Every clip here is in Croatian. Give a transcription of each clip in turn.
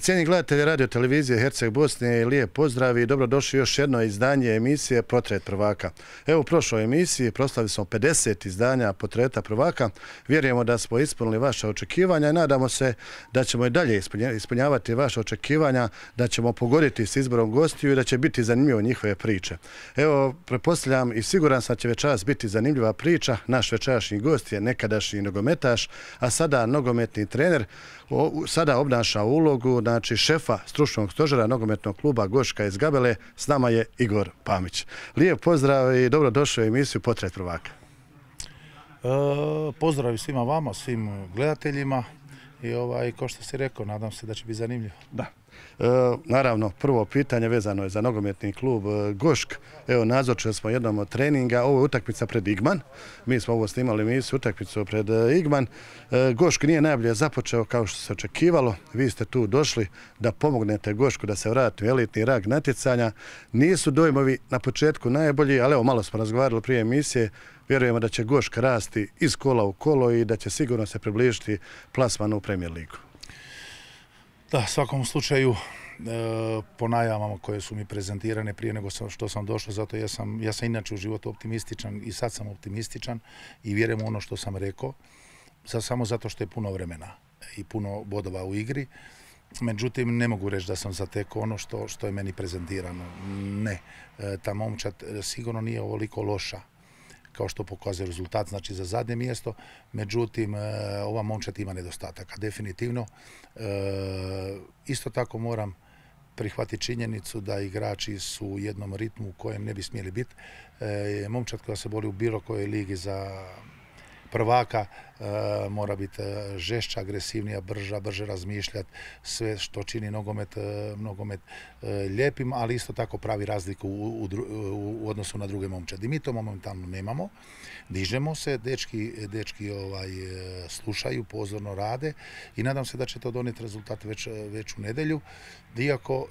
Cijenjeni gledatelji radio televizije Herceg Bosne, lijep pozdrav i dobrodošli još jedno izdanje emisije Portret prvaka. Evo u prošloj emisiji proslavili smo 50 izdanja Portreta prvaka. Vjerujemo da smo ispunili vaše očekivanja i nadamo se da ćemo i dalje ispunjavati vaše očekivanja, da ćemo pogoditi s izborom gostiju i da će biti zanimljivo njihove priče. Evo, pretpostavljam i siguran sam da će večeras biti zanimljiva priča. Naš večerašnji gost je nekadašnji nogometaš, a sada nogometni trener. Sada obnaša ulogu šefa stručnog stožera nogometnog kluba Goška iz Gabele. S nama je Igor Pamić. Lijep pozdrav i dobrodošli u emisiju Portret prvaka. Pozdrav svima vama, svim gledateljima i kao što si rekao, nadam se da će biti zanimljivo. Da. Naravno, prvo pitanje vezano je za nogometni klub Gošk. Evo, nazočili smo jednom od treninga. Ovo je utakmica pred Igman. Mi smo ovo snimali emisiju, utakmicu pred Igman. Gošk nije najbolje započeo kao što se očekivalo. Vi ste tu došli da pomognete Gošku da se vrati u elitni rang natjecanja. Nisu dojmovi na početku najbolji, ali evo, malo smo razgovarali prije emisije. Vjerujemo da će Gošk rasti iz kola u kolo i da će sigurno se približiti plasmanu u Premier ligu. Da, u svakom slučaju po najavama koje su mi prezentirane prije nego što sam došao, zato ja sam inače u životu optimističan i sad sam optimističan i vjerujem u ono što sam rekao, samo zato što je puno vremena i puno bodova u igri. Međutim, ne mogu reći da sam zatekao ono što je meni prezentirano. Ne, ta momčad sigurno nije ovoliko loša kao što pokazuje rezultat, znači za zadnje mjesto. Međutim, ova momčad ima nedostataka, definitivno. Isto tako moram prihvatiti činjenicu da igrači su u jednom ritmu u kojem ne bi smjeli biti. Momčad koja se bori u bilo kojoj ligi za prvaka mora biti žešća, agresivnija, brže razmišljati, sve što čini nogomet lijepim, ali isto tako pravi razliku u odnosu na druge momčadi. Mi to momentalno nemamo, dižemo se, dečki slušaju, pozorno rade i nadam se da će to donijeti rezultat već u nedjelju,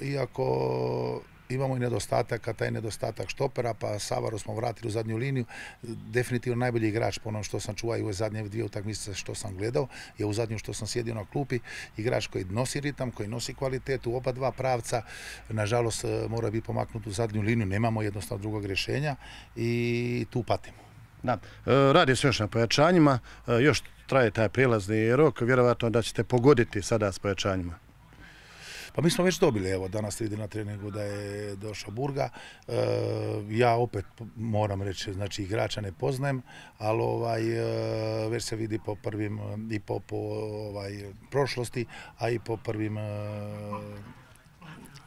iako imamo i nedostatak, taj nedostatak štopera, pa Savaru smo vratili u zadnju liniju. Definitivno najbolji igrač po onom što sam čuvao i u zadnje dvije utakmice što sam gledao, je u zadnju što sam sjedio na klupi, igrač koji nosi ritam, koji nosi kvalitetu, oba dva pravca. Nažalost, mora biti pomaknut u zadnju liniju, nemamo jednostavno drugog rješenja i tu patimo. Da. Radi se još na pojačanjima, još traje taj prijelazni rok, vjerovatno da ćete pogoditi sada s pojačanjima. Pa mi smo već dobili, evo danas vidim na treningu da je došao Burga. Ja opet moram reći, znači igrača ne poznajem, ali već se vidi po prvim i po prošlosti, a i po prvim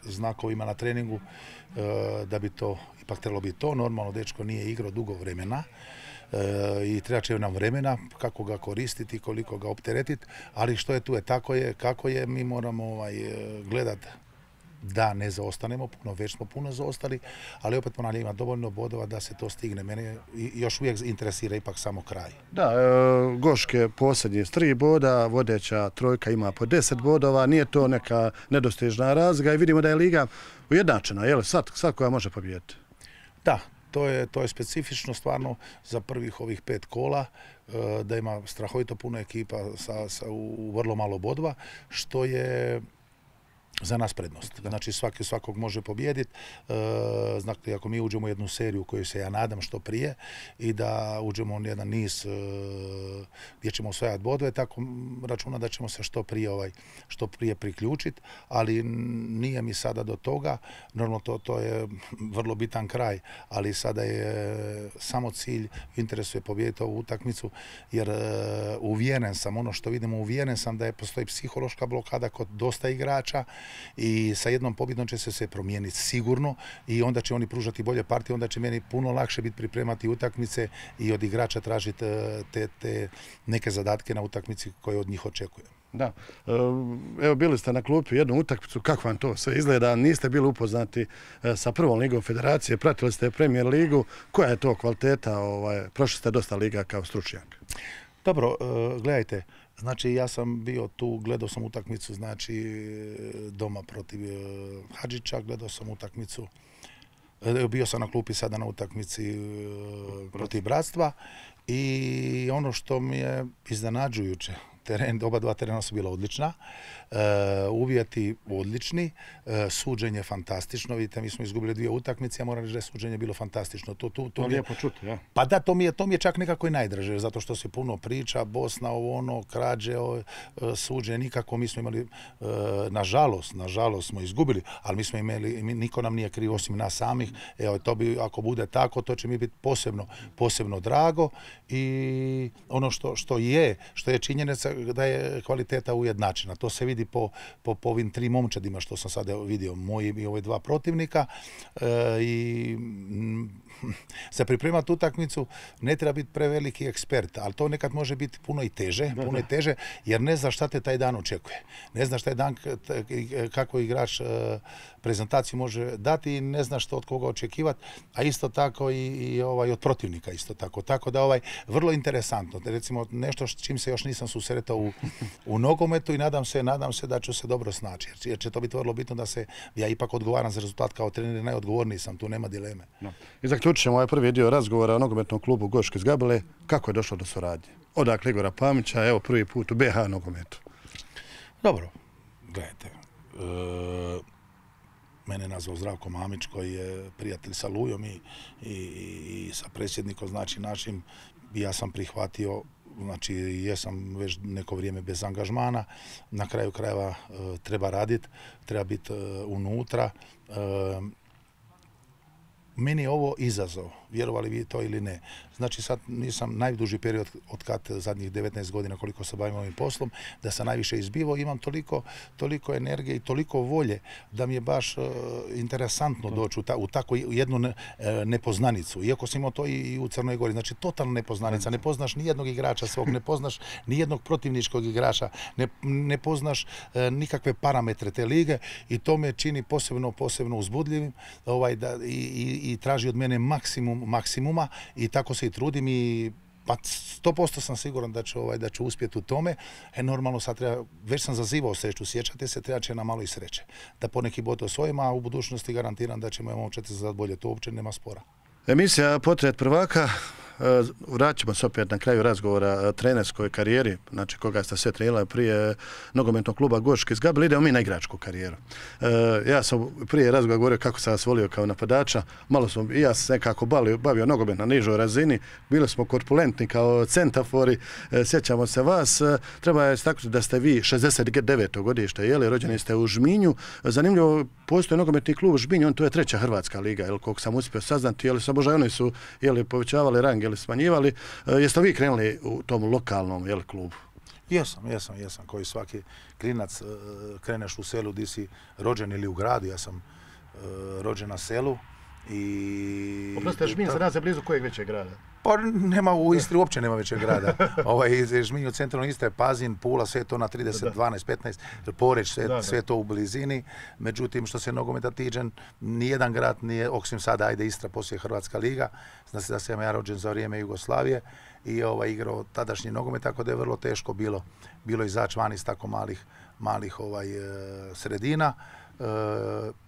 znakovima na treningu da bi to ipak trebalo biti to. Normalno, dečko nije igrao dugo vremena i treba će nam vremena kako ga koristiti, koliko ga opteretiti, ali što je tu je, tako je, kako je, mi moramo gledati da ne zaostanemo puno, već smo puno zaostali, ali opet ponavljam, ima dovoljno bodova da se to stigne. Mene još uvijek interesira ipak samo kraj. Da, Goške posljednji s 3 boda, vodeća trojka ima po 10 bodova, nije to neka nedostižna razlika i vidimo da je liga ujednačena, je li sad koja može pobijediti? Da. To je specifično stvarno za prvih ovih 5 kola, da ima strahovito puno ekipa u vrlo malo bodova, što je za nas prednost. Znači svakog može pobijediti. Znači, ako mi uđemo u jednu seriju u kojoj se ja nadam što prije i da uđemo u jedan niz gdje ćemo osvajati bodove, tako računa da ćemo se što prije priključiti, ali nije mi sada do toga. Normalno to je vrlo bitan kraj, ali sada je samo cilj, interesuje pobijediti ovu utakmicu, jer uvjeren sam, ono što vidimo, uvjeren sam da postoji psihološka blokada kod dosta igrača i sa jednom pobjedom će se promijeniti sigurno i onda će oni pružati bolje partije, onda će meni puno lakše biti pripremati utakmice i od igrača tražiti te neke zadatke na utakmici koje od njih očekujem. Da, evo bili ste na klupi jednu utakmicu, kako vam to sve izgleda, niste bili upoznati sa prvom ligom federacije, pratili ste Premier ligu, koja je to kvaliteta, prošli ste dosta liga kao stručnjak? Dobro, gledajte, znači ja sam bio tu, gledao sam utakmicu, znači doma protiv Hadžića, gledao sam utakmicu, bio sam na klupi sada na utakmici protiv Bratstva i ono što mi je iznenađujuće, oba dva terena su bila odlična, uvjeti odlični, suđenje fantastično, vidite, mi smo izgubili 2 utakmice, ja moram reći da je suđenje bilo fantastično. To lijepo čuti, ja. Pa da, to mi je čak nekako i najdraže, zato što se puno priča, Bosna, krađe, suđenje, nikako, mi smo imali, nažalost smo izgubili, ali mi smo imali, niko nam nije kriv osim nas samih, evo, to bi, ako bude tako, to će mi biti posebno drago i ono što je činjenica da je kvaliteta ujednačena. To se vidi po ovim 3 momčadima što sam sada vidio, moji i ove 2 protivnika i za pripremati utakmicu ne treba biti preveliki ekspert, ali to nekad može biti puno i teže, jer ne znaš šta te taj dan očekuje. Ne znaš taj dan kako igrač prezentaciju može dati i ne znaš što od koga očekivati, a isto tako i od protivnika isto tako. Tako da vrlo interesantno. Recimo nešto s čim se još nisam susretao u nogometu i nadam se da ću se dobro snaći. Jer će to biti vrlo bitno da ja ipak odgovaram za rezultat kao trener, najodgovorniji sam, tu nema dileme. No. I zaključit ćemo ovaj prvi dio razgovora o nogometnom klubu Goški iz Gabele. Kako je došlo do suradnje? Odakle Igora Pamića, evo prvi put u BH nogometu. Dobro, gledajte. Mene je nazvao Zdravko Mamić koji je prijatelj sa Lujom i sa predsjednikom, znači našim, ja sam prihvatio, znači jesam već neko vrijeme bez angažmana, na kraju krajeva treba raditi, treba biti unutra. Meni je ovo izazov, vjerovali vi to ili ne. Znači sad nisam najduži period od kad zadnjih 19 godina koliko se bavim ovim poslom, da sam najviše izbivao, imam toliko energije i toliko volje da mi je baš interesantno doći u takvu jednu nepoznanicu. Iako sam imao to i u Crnoj Gori, znači totalna nepoznanica, ne poznaš ni jednog igrača svog, ne poznaš ni jednog protivničkog igrača, ne poznaš nikakve parametre te lige i to me čini posebno uzbudljivim i traži od mene maksimuma i tako se i trudim i pa 100% sam siguran da ću uspjeti u tome. Normalno sad već sam zazivao sreću, sjećate se, treba će nam malo i sreće. Da poneki bod osvojimo, a u budućnosti garantiram da ćemo momčati za bolje, to uopće nema spora. Emisija Portret prvaka, vratit ćemo se opet na kraju razgovora trenerskoj karijeri, znači koga ste sve trenirali prije nogometnog kluba Goški iz Gabele, idemo mi na igračku karijeru. Ja sam prije razgovora govorio kako sam vas volio kao napadača, malo sam i ja sam nekako bavio nogomet na nižoj razini, bili smo korpulentni kao centafori, sjećamo se vas, treba je istaknuti da ste vi 69. godište, rođeni ste u Žminju, zanimljivo, postoji nogometni klub Žminju, to je 3. hrvatska liga, koliko sam uspio saznati, Sabožaj oni su povećavali rang ili smanjivali. Jeste vi krenuli u tom lokalnom klubu? Jesam. Koji svaki klinac kreneš u selu gdje si rođen ili u gradu. Ja sam rođen na selu. Oprostite, Žminj za nas je blizu kojeg većeg grada? Pa u Istri uopće nema većeg grada. Žminj u centralnoj Istre, Pazin, Pula, sve to na 30, 12, 15, Poreć, sve to u blizini. Međutim, što se nogometa tiče, nijedan grad nije, osim sada, Istra, poslije Hrvatska liga. Znači da sam ja rođen za vrijeme Jugoslavije i igrao tadašnji nogomet, tako da je vrlo teško bilo izaći van iz tako malih sredina.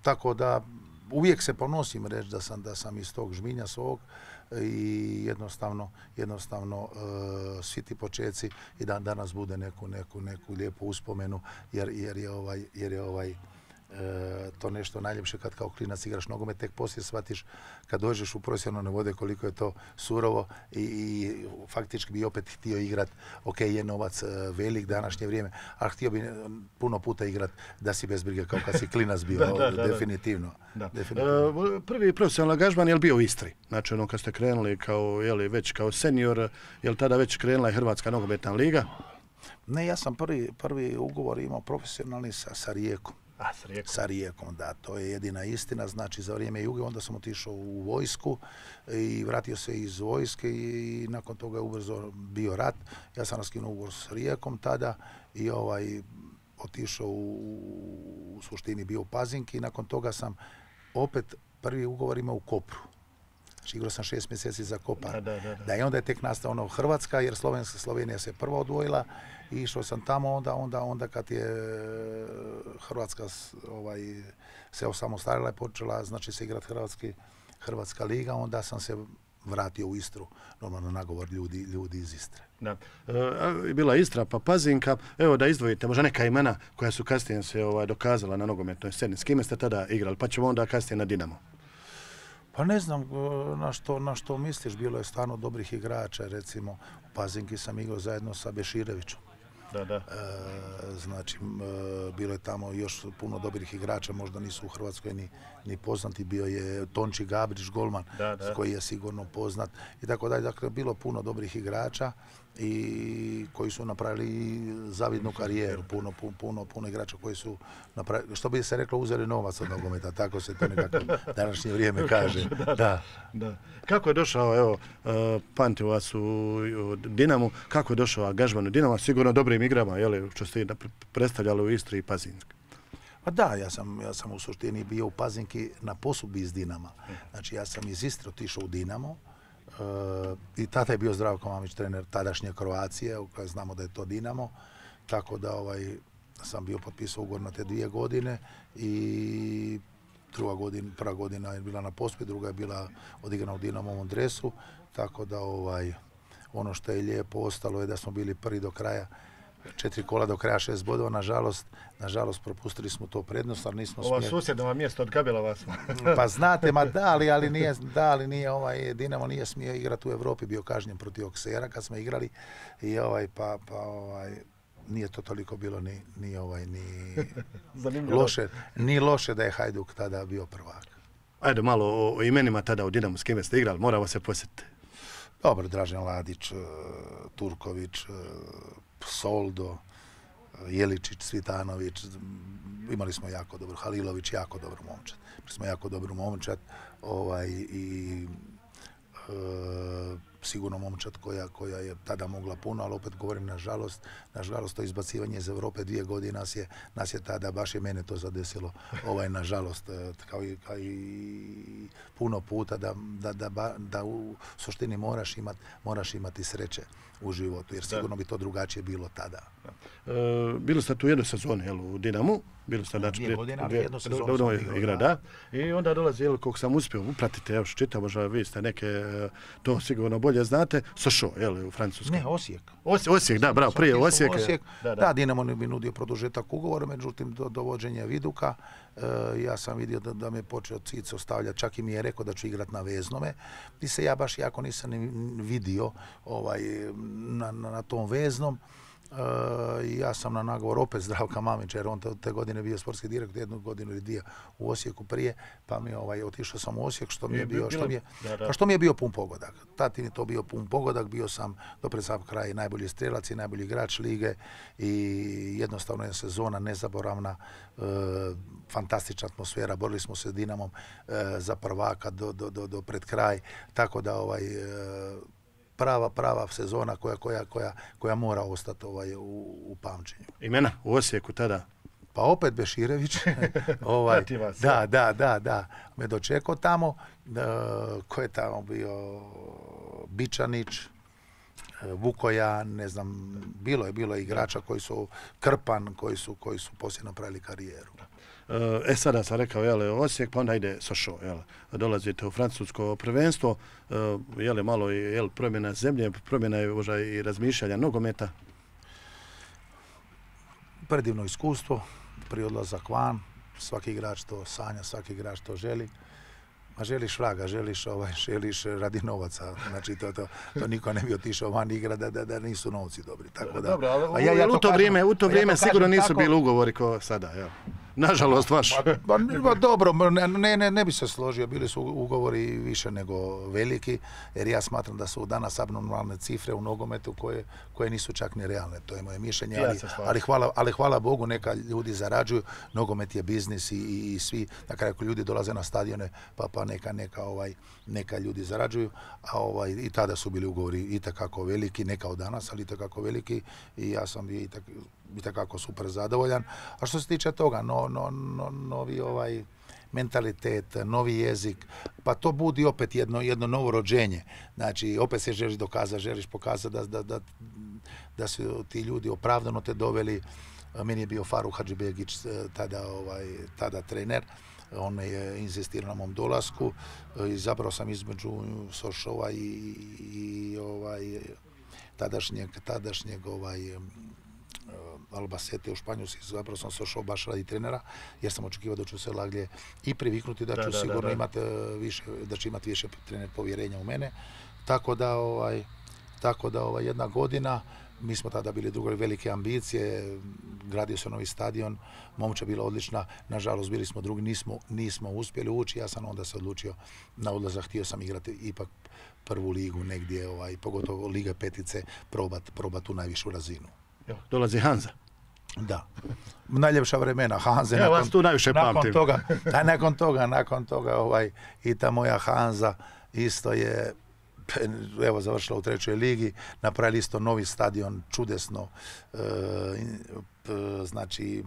Tako da uvijek se ponosim reći da sam iz tog Žminja svog i jednostavno svi ti počeci i da danas bude neku lijepu uspomenu jer je to nešto najljepše kad kao klinac igraš nogomet, tek poslije shvatiš kad dođeš u profesionalne vode koliko je to surovo i faktički bi opet htio igrat, ok, je novac velik današnje vrijeme, ali htio bi puno puta igrat da si bez brige kao kad si klinac bio, definitivno. Prvi profesionalni angažman je bio u Istri, znači kad ste krenuli već kao senior, je li tada već krenula i Hrvatska nogometna liga? Ne, ja sam prvi ugovor imao profesionalni sa Rijekom. Sa Rijekom, da, to je jedina istina, znači za vrijeme Juge, onda sam otišao u vojsku i vratio se iz vojske i nakon toga je ubrzo bio rat. Ja sam raskinuo ugovor s Rijekom tada i otišao u suštini bio u Pazinki i nakon toga sam opet prvi ugovor imao u Kopru. Znači igrao sam 6 mjeseci za Kopar. I onda je tek nastao Hrvatska, jer Slovenija se prva odvojila i išao sam tamo onda kad je Hrvatska se osamostalila i počela znači se igrati Hrvatska liga, onda sam se vratio u Istru, normalno nagovor ljudi iz Istre. Da. Bila Istra pa Pazinka. Evo da izdvojite možda neka imena koja su kasnije se dokazala na nogometnoj sceni. S kime ste tada igrali? Pa ćemo onda kasnije na Dinamo. Pa ne znam na što misliš, bilo je stvarno dobrih igrača, recimo u Pazinki sam igrao zajedno sa Beširevićem. Da. Znači, bilo je tamo još puno dobrih igrača, možda nisu u Hrvatskoj ni poznati, bio je Tonči Gabrić, golman, koji je sigurno poznat i tako dalje. Dakle, bilo puno dobrih igrača i koji su napravili zavidnu karijeru, puno igrača koji su napravili, što bi se reklo, uzeli novac od nogometa, tako se to nekako današnje vrijeme kaže. Da. Kako je došao, evo, pamtim vas u Dinamu, kako je došao angažman u Dinamo, sigurno dobrim igrama, što ste predstavljali u Istri i Pazinski? Pa da, ja sam u suštini bio u Pazinki na posudbi iz Dinama. Znači, ja sam iz Istre otišao u Dinamo i tada je bio Zdravko Mamić, trener tadašnje Kroacije, u kojoj znamo da je to Dinamo, tako da sam bio potpisao ugovor na te 2 godine i prva godina je bila na posudbi, druga je bila odigrana u Dinamovom dresu, tako da ono što je lijepo ostalo je da smo bili prvi do kraja, 4 kola do kraja, 6 bodova, nažalost propustili smo to prednost, ali nismo smjeli. Ovo susjedno mijesto odgabilo vas. Pa znate, ali nije Dinamo nije smio igrati u Europi, bio kažnjen protiv Oksera kad smo igrali i nije to toliko bilo ni loše da je Hajduk tada bio prvak. Ajde malo o imenima tada u Dinamu, s kime ste igrali, moramo se posjetiti. Dobro, Dražen Ladić, Turković, Soldo, Jeličić, Svitanović, imali smo jako dobro, Halilović, jako dobro momčad. Imali smo jako dobro momčad i sigurno momčad koja je tada mogla puno, ali opet govorim nažalost to izbacivanje iz Europe 2 godine nas je tada, baš je mene to zadesilo, nažalost, kao i puno puta da u suštini moraš imati sreće u životu, jer sigurno bi to drugačije bilo tada. Bili ste tu jednu sezonu u Dinamu, bili ste prije godine, ali jednu sezonu sam igrao, da. I onda dolazi, koliko sam uspio upratiti, evo što čitam, možda vi ste neke, to sigurno bolje znate, Sochaux, u Francuskoj. Ne, Osijek. Osijek, da, bravo, prije Osijek. Da, Dinamo mi nudio produžetak ugovora, međutim, do dovođenja Viduka, ja sam vidio da me počeo Cico stavljati, čak i mi je rekao da ću igrati na veznome, gdje se ja baš jako nisam vidio na tom veznom. Ja sam na nagovor opet Zdravka Mamića, jer on te godine bio sportski direktor, 1 godinu ili 2 u Osijeku prije, pa mi otišao sam u Osijek, što mi je bio pun pogodak. Tad mi je to bio pun pogodak, bio sam do pred sam kraj najbolji strelac i najbolji igrač lige i jednostavno je sezona nezaboravna, fantastična atmosfera, borili smo se s Dinamom za prvaka do pred kraj, tako da prava sezona koja mora ostati u pamćenju. Imena u Osijeku tada? Pa opet Beširević. Da. Me dočekao tamo. Ko je tamo bio? Bičanić, Vukojan, ne znam, bilo je igrača koji su Krpan, koji su poslije napravili karijeru. Sada sam rekao, Osijek, pa onda ide Sochaux, dolazite u francusko prvenstvo, malo promjena zemlje, promjena je možda i razmišljanja nogometa. Predivno iskustvo, prije odlazak van, svaki igrač to sanja, svaki igrač to želi. A želiš vraga, želiš radi novaca, znači to niko ne bi otišao van igra da nisu novci dobri. Tako da, dobro, ali u to vrijeme sigurno nisu bili ugovori kao sada, nažalost vaš. Dobro, ne bi se složio, bili su ugovori više nego veliki, jer ja smatram da su danas abnormalne cifre u nogometu koje nisu čak ni realne, to je moje mišljenje, ali hvala Bogu, neka ljudi zarađuju, nogomet je biznis i svi, na kraju ljudi dolaze na stadione, pa neka ljudi zarađuju, a i tada su bili ugovori itekako veliki, ne kao danas, ali itekako veliki i ja sam bio itekako super zadovoljan. A što se tiče toga, novi mentalitet, novi jezik, pa to budi opet jedno novo rođenje. Znači, opet se želiš dokazati, želiš pokazati da su ti ljudi opravdano te doveli. Meni je bio Faruk Hadžibegić tada trener. On je insistirao na mom dolasku. Izabrao sam između Sochauxa i tadašnjeg Albacete u Španjolski, zapravo sam se ošao baš radi trenera, jer sam očekivao da ću se laglje i priviknuti, da ću sigurno imati više, da će imati više trener povjerenja u mene. Tako da jedna godina, mi smo tada bili drugo velike ambicije, gradio se novi stadion, momčad bila odlična, nažalost bili smo drugi, nismo uspjeli ući, ja sam onda se odlučio na odlazak, htio sam igrati ipak prvu ligu negdje, pogotovo Liga petice, probat tu najvišu razinu. Dolazi Hanza. Da. Najljepša vremena Hanze. Ja vas tu najviše pamtim. Nakon toga i ta moja Hanza isto je završila u 3. ligi, napravili isto novi stadion, čudesno, znači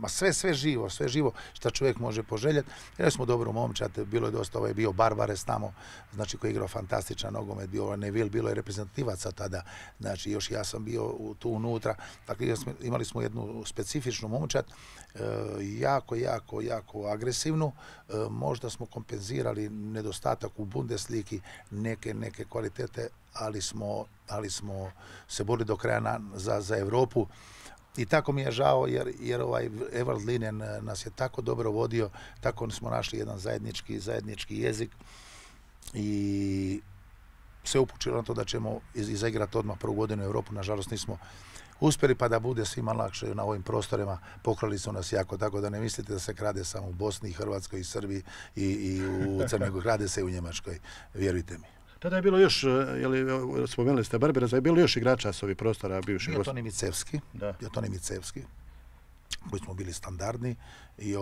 sve živo što čovjek može poželjeti. Jer smo dobro momčad, bilo je dosta, bio Barbares tamo, znači koji je igrao fantastičan nogomet, bio Neville, bilo je reprezentativaca tada, znači još ja sam bio tu unutra, dakle imali smo jednu specifičnu momčad, jako agresivnu, možda smo kompenzirali nedostatak u Bundesligi, neke kvalitete, ali smo se borili do kraja za Europu. I tako mi je žao jer Evald Linen nas je tako dobro vodio, tako smo našli jedan zajednički jezik i se upućilo na to da ćemo izaigrati odmah prvu godinu u Europu. Nažalost nismo uspjeli, pa da bude svima lakše na ovim prostorima, pokrali su nas jako, tako da ne mislite da se krade samo u Bosni, i Hrvatskoj, i Srbiji i u Crnoj Gori, krade se i u Njemačkoj, vjerujte mi. Tada je bilo još, spomenuli ste Barbares, je bilo još igrača s ovih prostora bivših gosta? Bio Toni Micevski, koji smo bili standardni i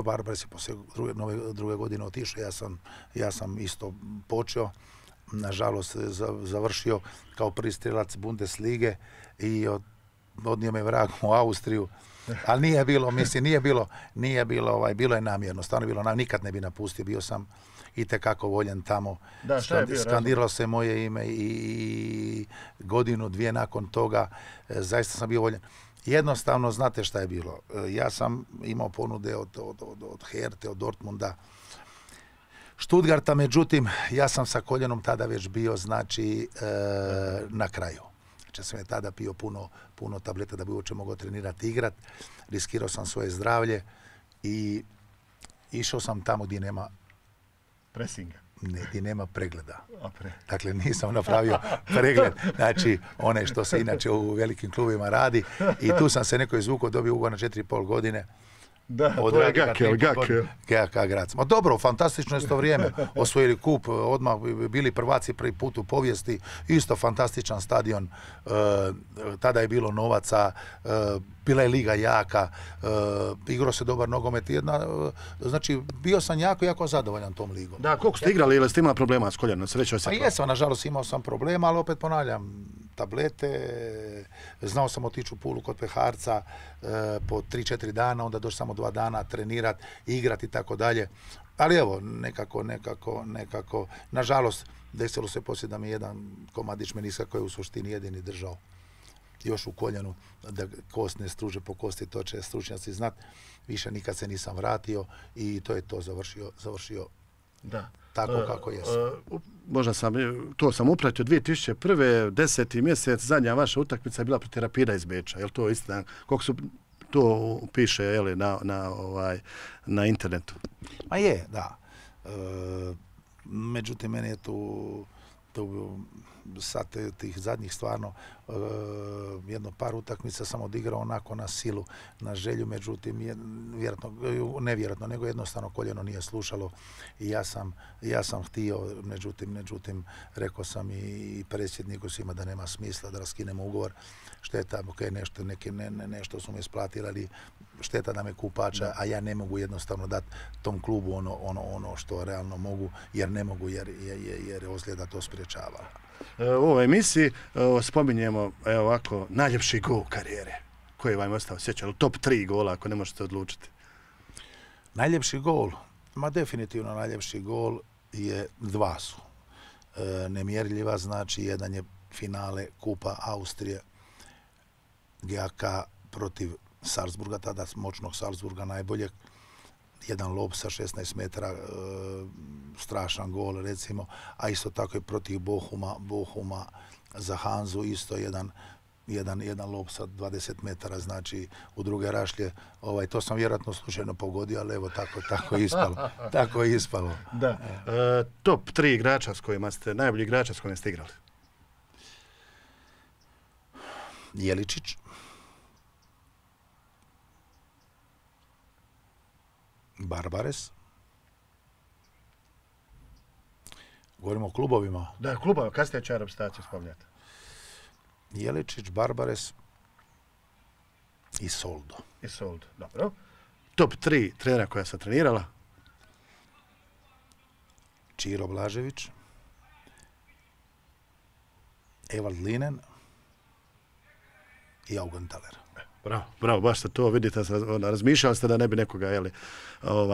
Barbares je poslije druge godine otišao, ja sam isto počeo, nažalost završio kao prvi strelac Bundeslige i odnio me vrag u Austriju, ali bilo je namjerno, stvarno bilo namjerno, nikad ne bi napustio, bio sam itekako voljen tamo. Skandiralo se moje ime i godinu, dvije nakon toga zaista sam bio voljen. Jednostavno, znate šta je bilo? Ja sam imao ponude od Herte, od Dortmunda, Stuttgarta, međutim, ja sam sa koljenom tada već bio, znači, na kraju. Znači, sam je tada pio puno tableta da bi uopće mogao trenirati, igrat. Riskirao sam svoje zdravlje i išao sam tamo gdje nema presinga. Ne, gdje nema pregleda. Dakle, nisam napravio pregled, znači one što se inače u velikim klubima radi, i tu sam se neko izvukao, dobio ugovor na 4,5 godine. Da, to je GAK Graz. Ma dobro, fantastično je to vrijeme. Osvojili kup, odmah bili prvaci prvi put u povijesti, isto fantastičan stadion, tada je bilo novaca, bila je liga jaka, igrao se dobar nogomet, znači bio sam jako zadovoljan tom ligom. Da, koliko ste igrali ili ste imali problema s koljenom? Pa jesam, nažalost imao sam problema, ali opet ponavljam, tablete, znao sam otići u Pulu kod peharca po 3-4 dana, onda doći samo 2 dana trenirati, igrati i tako dalje. Ali evo, nekako, nažalost, desilo se poslije da mi jedan komadić meniska koji je u suštini jedini držao još u koljenu, da kost ne struže po kosti, to će stručnjaci znat. Više nikad se nisam vratio i to je to, završio tako kako jesam. Možda to sam upratio 2001. 10. mjesec, zadnja vaša utakmica je bila protiv Rapida iz Beča. Je li to istina? Koliko su to piše na internetu? Ma je, da. Međutim, meni je tu sad tih zadnjih stvarno jedno par utakmica sam odigrao onako na silu, na želju, međutim nevjerojatno, nego jednostavno koljeno nije slušalo i ja sam htio, međutim rekao sam i predsjedniku svima da nema smisla da raskinemo ugovor, šteta, nešto su me isplatili, ali šteta da me kupača, a ja ne mogu jednostavno dati tom klubu ono što realno mogu, jer ne mogu, jer ozljeda to spriječava. U ovoj emisiji spominjemo ovako najljepši gol karijere. Koji vam je ostao sjećan? Top 3 gola ako ne možete odlučiti. Najljepši gol? Ma definitivno najljepši gol je 2 su. Nemjerljiva, znači jedan je finale Kupa Austrije, GAK protiv Salzburga, tada moćnog Salzburga najboljeg. jedan lob sa 16 metara, strašan gol recimo, a isto tako i protiv Bohuma za Hanzu isto jedan lob sa 20 metara, znači u druge rašlje. To sam vjerojatno slučajno pogodio, ali evo tako je ispalo. Tako je ispalo. Da. Top 3 igrača s kojima ste, najbolji igrača s kojima ste igrali? Jeličić. Barbares. Govorimo o klubovima. Da, klubova, kad ste će reprezentaciju spomljati? Jeličić, Barbares i Soldo. I Soldo, dobro. Top 3 trenera koja sam trenirala? Čiro Blažević, Evald Linen i Augenthaler. Bravo, baš ste to, vidite, razmišljali ste da ne bi nekoga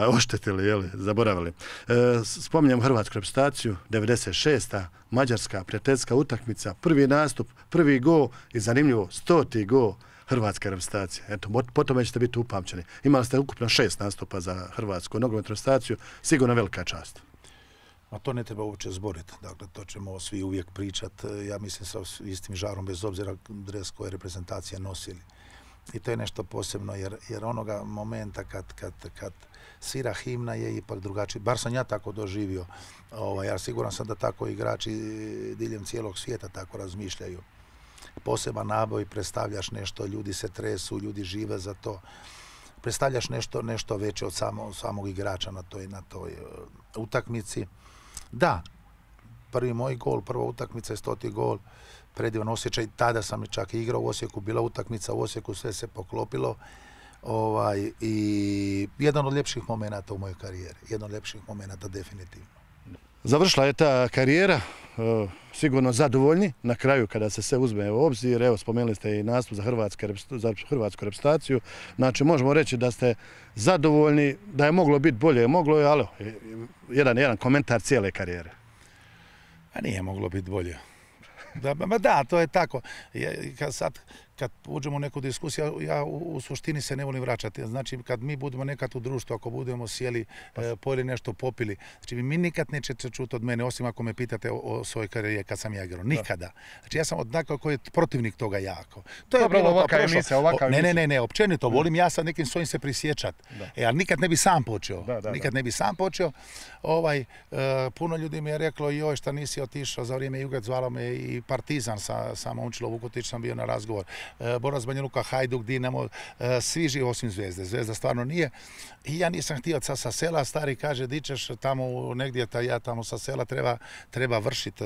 oštetili, zaboravili. Spominjem hrvatsku reprezentaciju, 96. Mađarska prijateljska utakmica, prvi nastup, prvi gol i zanimljivo, 100. gol hrvatske reprezentacije. Eto, po tome ćete biti upamćeni. Imali ste ukupno 6 nastupa za hrvatsku nogometnu reprezentaciju, sigurno velika čast. A to ne treba uopće zboriti. Dakle, to ćemo svi uvijek pričati. Ja mislim sa istim žarom, bez obzira dres koje reprezentacije nosili. I to je nešto posebno, jer onoga momenta kad svira himna je ipak drugačiji. Bar sam ja tako doživio. Ja siguran sam da tako igrači diljem cijelog svijeta tako razmišljaju. Poseban naboj, predstavljaš nešto, ljudi se tresu, ljudi žive za to. Predstavljaš nešto veće od samog igrača na toj utakmici. Da, prvi moj gol, prva utakmica je 100. gol. Predivan osjećaj, tada sam čak i igrao u Osijeku, bila utakmica u Osijeku, sve se poklopilo i jedan od ljepših momenata u mojoj karijeri, jedan od ljepših momenata definitivno. Završila je ta karijera, sigurno zadovoljni na kraju kada se sve uzme u obzir. Evo, spomenuli ste i nastup za hrvatsku reprezentaciju, znači možemo reći da ste zadovoljni, da je moglo biti bolje, moglo je, ali jedan komentar cijele karijere. A nije moglo biti bolje. Da, to je tako. Kad uđemo u neku diskusiju, ja u suštini se ne volim vraćati. Znači, kad mi budemo nekad u društvu, ako budemo sjeli, pojeli nešto, popili, znači mi nikad nećete čuti od mene, osim ako me pitate o svojoj karijeri kad sam ja igrao. Nikada. Znači, ja sam odnako koji je protivnik toga jako. To je bilo ovakva emisija. Ne, općenito, volim ja sad nekim svojim se prisjećat. Ali nikad ne bi sam počeo. Nikad ne bi sam počeo. Puno ljudi mi je reklo, joj, šta nisi otišao za vrijeme Jugat, zvalo me i Partizan sa Momčilo Vukotić, sam bio na razgovor. Borac Banja Luka, Hajduk, Dinamo, svi živi osim Zvezde. Zvezda stvarno nije. I ja nisam htio sa sela, stari kaže, di ćeš tamo negdje, ja tamo sa sela treba vršiti,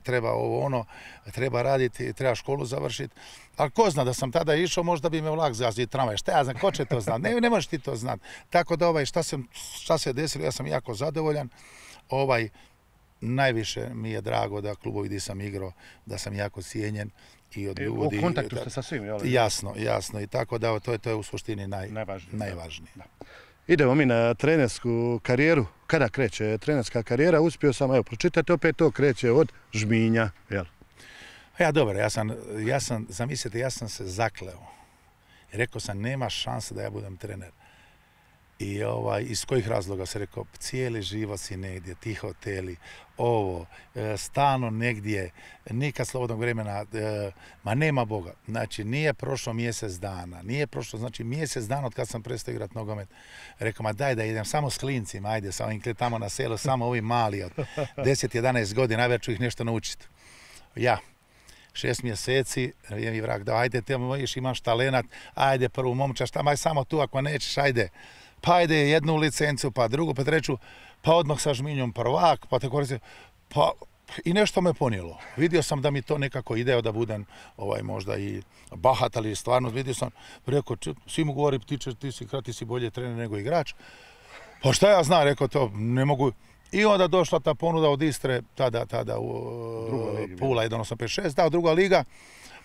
treba treba raditi, treba školu završiti. Ali ko zna da sam tada išao, možda bi me vlak zgazio tramvaj. Šta ja znam, ko će to znati? Ne možeš ti to znati. Tako da šta se desilo, ja sam jako zadovoljan. Najviše mi je drago da klubovi gdje sam igrao, da sam jako cijenjen i od ljudi. U kontaktu ste sa svim, jel? Jasno. I tako da to je u suštini najvažnije. Idemo mi na trenersku karijeru. Kada kreće trenerska karijera? Uspio sam, evo, pročitajte opet, to kreće od Žminja, jel? Dobro, zamislite, ja sam se zakleo. Rekao sam, nema šanse da ja budem trener. I iz kojih razloga se rekao, cijeli život si negdje, ti hoteli, stalno negdje, nikad slobodnog vremena, ma nema Boga. Znači, nije prošlo mjesec dana, znači mjesec dana od kad sam prestao igrati nogomet. Rekao, ma daj da idem samo s klincima, ajde, sa ovim tamo na selu, samo ovi mali od 10-11 godina, najveć ću ih nešto naučiti. Ja. 6 mjeseci, je mi vrag dao, ajde, te imaš talenat, ajde prvu momča, šta maj samo tu, ako nećeš, ajde. Pa ajde jednu licencu, pa drugu, pa treću, pa odmah sa Žminjom prvak, pa tako reći, pa i nešto me ponijelo. Vidio sam da mi to nekako ide, da budem možda i bahat, ali stvarno vidio sam, rekao, svi mu govori, ti si bolje trener nego igrač. Pa šta ja znam, rekao to, ne mogu. I onda došla ta ponuda od Istre, tada u Pula 1.85.6, da, druga liga.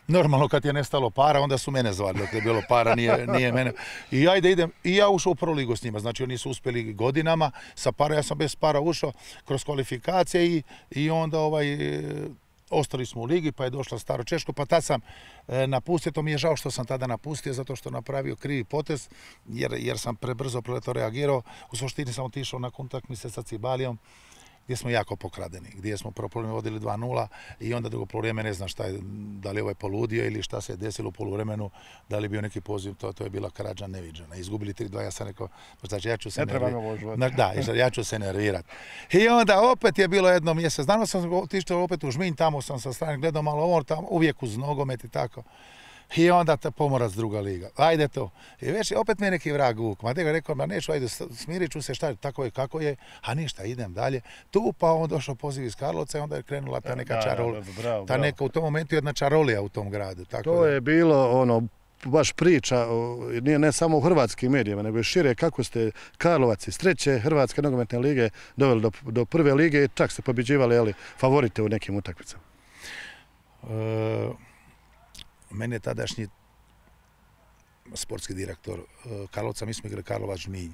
Normalno kad je nestalo para, onda su mene zvali, dok je bilo para, nije mene. I ajde idem, i ja ušao u prvu ligu s njima, znači oni su uspjeli godinama, sa para, ja sam bez para ušao kroz kvalifikacije i onda ostali smo u ligi, pa je došla Staro Češko, pa tad sam napustio, to mi je žao što sam tada napustio, zato što napravio krivi potez, jer sam prebrzo reagirao. U suštini sam otišao nakon utakmice sa Cibalijom, gdje smo jako pokradeni, gdje smo prvo poluvreme vodili 2:0 i onda drugo poluvreme ne znam šta je, da li je ovaj poludio ili šta se je desilo u poluvremenu, da li je bio neki poziv, to je bila krađa neviđena. Izgubili 3:2, ja sam rekao, znači ja ću se ja ću se nervirati. I onda opet je bilo jedno mjesec, danas sam otišao opet u Žminj, tamo sam sa strane gledao malo ovo, tamo uvijek uz nogomet i tako. I onda Pomorac druga liga. Ajde to. I već opet mi je neki vrag vuk. Ma ga rekao, ma neću, ajde, smirit ću se, šta je, tako je kako je, a ništa, idem dalje. Tu pa on došao poziv iz Karlovca i onda je krenula ta neka čarolija. Ta neka u tom momentu jedna čarolija u tom gradu. Tako to je bilo baš priča, nije ne samo u hrvatskim medijima, nego i šire kako ste Karlovac iz 3. Hrvatske nogometne lige doveli do 1. lige i čak ste pobjeđivali favorite u nekim utakmicama. Mene je tadašnji sportski direktor Karlovca, mi smo igrali Karlovac Žminj.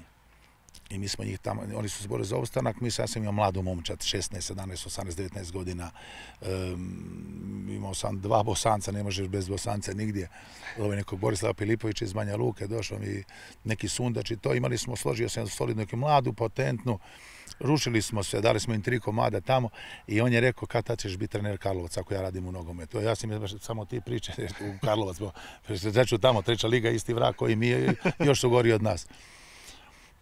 I mi smo njih tamo, oni su se borili za opstanak, ja sam imao mladu momčad, 16, 17, 18, 19 godina. Imao sam 2 Bosanca, ne možeš bez Bosanca nigdje. Nekog Borislava Pilipovića iz Banja Luke, došao mi neki Sundač i to. Imali smo, složio sam solidnu neku mladu, potentnu. Rušili smo se, dali smo im 3 komada tamo i on je rekao kad tad ćeš biti trener Karlovac ako ja radim u nogometu. Ja sam samo ti priče u Karlovac, reću tamo 3. liga isti vrag koji mi je još su gori od nas.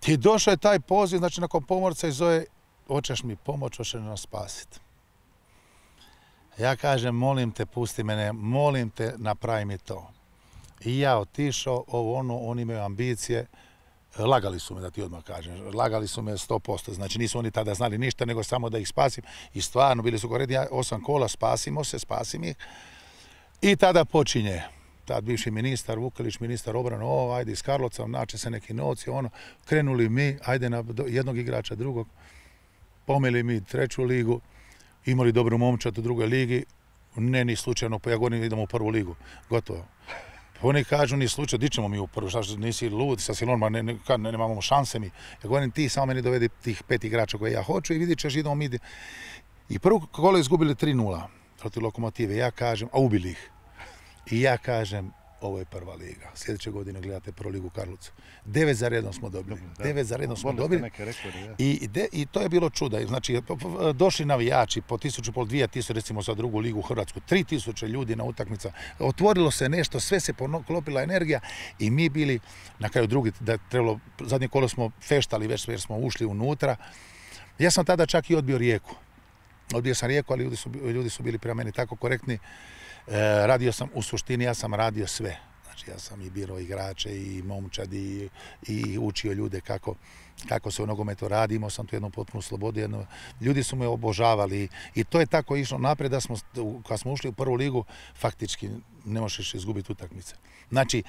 I došao je taj poziv, znači nakon Pomorca i zove, hoćeš mi pomoć, hoćeš nas spasiti. Ja kažem, molim te, pusti mene, molim te, napravi mi to. I ja otišao, oni imaju ambicije, lagali su me, da ti odmah kažem, lagali su me 100%, znači nisu oni tada znali ništa, nego samo da ih spasim. I stvarno, bili su goredni 8 kola, spasim ih. I tada počinje. Tad bivši ministar Vukelić, ministar obrane, ajde iz Karlovca, naće se neki novci, krenuli mi, ajde na jednog igrača, drugog, pomeli mi 3. ligu, imali dobru momčad u 2. ligi, ne ni slučajno, ja govorim idemo u 1. ligu, gotovo. Oni kažu ni slučajno, di ćemo mi u 1. šta nisi lud, sa silonima, nemamo šanse mi. Ja govorim ti samo meni dovedi tih 5 igrača koje ja hoću i vidit ćeš idemo mi. I prvo kolo izgubili 3:0 protiv Lokomotive, ja kažem, a ubili ih. I ja kažem, ovo je 1. liga. Sljedeće godine gledate 1. ligu u Karlovcu. 9 za redom smo dobili. 9 za redom smo dobili. I to je bilo čuda. Znači, došli navijači po 1500, 2000, recimo za 2. ligu u Hrvatsku. 3000 ljudi na utakmica. Otvorilo se nešto, sve se poklopila energija i mi bili, na kraju zadnje kolo smo feštali već jer smo ušli unutra. Ja sam tada čak i odbio Rijeku. Odbio sam Rijeku, ali ljudi su bili prema meni tako korektni. Radio sam, u suštini ja sam radio sve. Znači ja sam i birao igrače i momčad i učio ljude kako se u nogometu radi. Imao sam tu jednu potpunu slobodu. Ljudi su me obožavali i to je tako išlo naprijed da kad smo ušli u 1. ligu, faktički ne možeš izgubiti utakmice. Znači,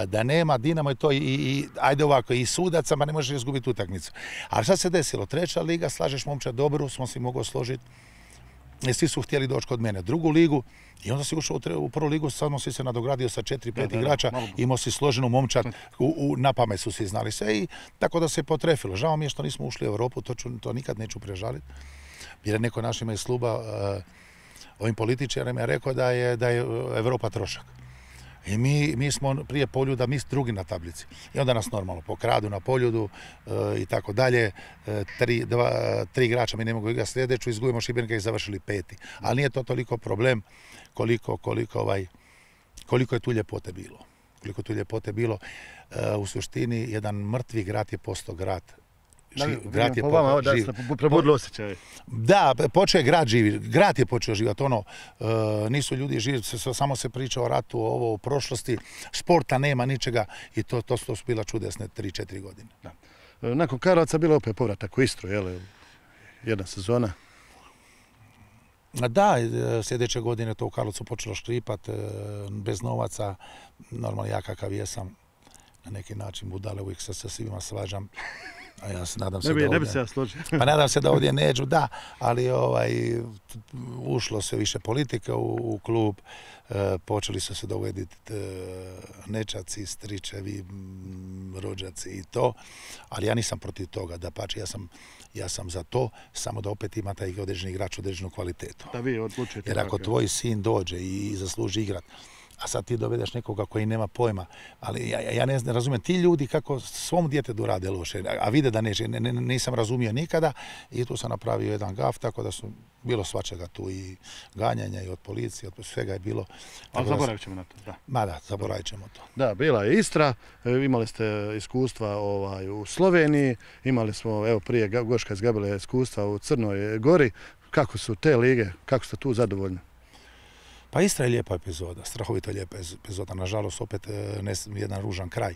da nema Dinamo i ajde ovako, i sudaca, ma ne možeš izgubiti utakmicu. Ali šta se desilo? 3. liga, slažeš momčad dobru, smo si mogli složiti. Svi su htjeli doći kod mene 2. ligu i onda si ušao u 1. ligu, sad si se nadogradio sa 4-5 igrača, imao si složenu momčad, na pamet su svi znali sve i tako da se potrefilo. Žao mi je što nismo ušli u Europu, to nikad neću prežaliti, jer je neko našima iz kluba, ovim političarima je rekao da je Europa trošak. I mi smo prije Poljuda, mi drugi na tablici. I onda nas normalno pokradu na Poljudu i tako dalje. 3 igrača mi ne mogu igrati sljedeću, izgubimo Šibenika i završili 5. Ali nije to toliko problem koliko je tu ljepote bilo. Koliko tu ljepote bilo. U suštini, jedan mrtvi grad je postao grad. Po vama, da ste probudili osjećaj. Da, počeo je grad živi, grad je počeo živjeti, nisu ljudi živjeti, samo se priča o ratu, o prošlosti, sporta nema, ničega i to su bila čudesne 3-4 godine. Nakon Karlovca bilo opet povratak u Istru, jedna sezona. Da, sljedeće godine to u Karlovcu počelo škripat, bez novaca, normalno ja kakav jesam, na neki način budale, uvijek se sa svima svađam. A ja se nadam se da ovdje... Ne bi se ja složio. Pa nadam se da ovdje neđu, da, ali ušlo se više politika u klub, počeli su se dovoditi nečaci, stričevi, rođaci i to, ali ja nisam protiv toga, dapače, ja sam za to, samo da opet ima taj određeni igrač određenu kvalitetu. Da vi odlučite. Jer ako tvoj sin dođe i zasluži igrat, a sad ti dovedeš nekoga koji nema pojma, ali ja ne razumijem ti ljudi kako svom djetetu rade loše, a vide da neće, nisam razumio nikada i tu sam napravio jedan gaf, tako da su bilo svačega tu i ganjanja i od policije, od svega je bilo. Ali zaboravit ćemo na to, da. Ma da, zaboravit ćemo to. Da, bila je Istra, imali ste iskustva u Sloveniji, imali smo, evo prije Goška izgabila iskustva u Crnoj Gori. Kako su te lige, kako ste tu zadovoljni? Pa Istra je lijepa epizoda, strahovito lijepa epizoda, nažalost opet jedan ružan kraj,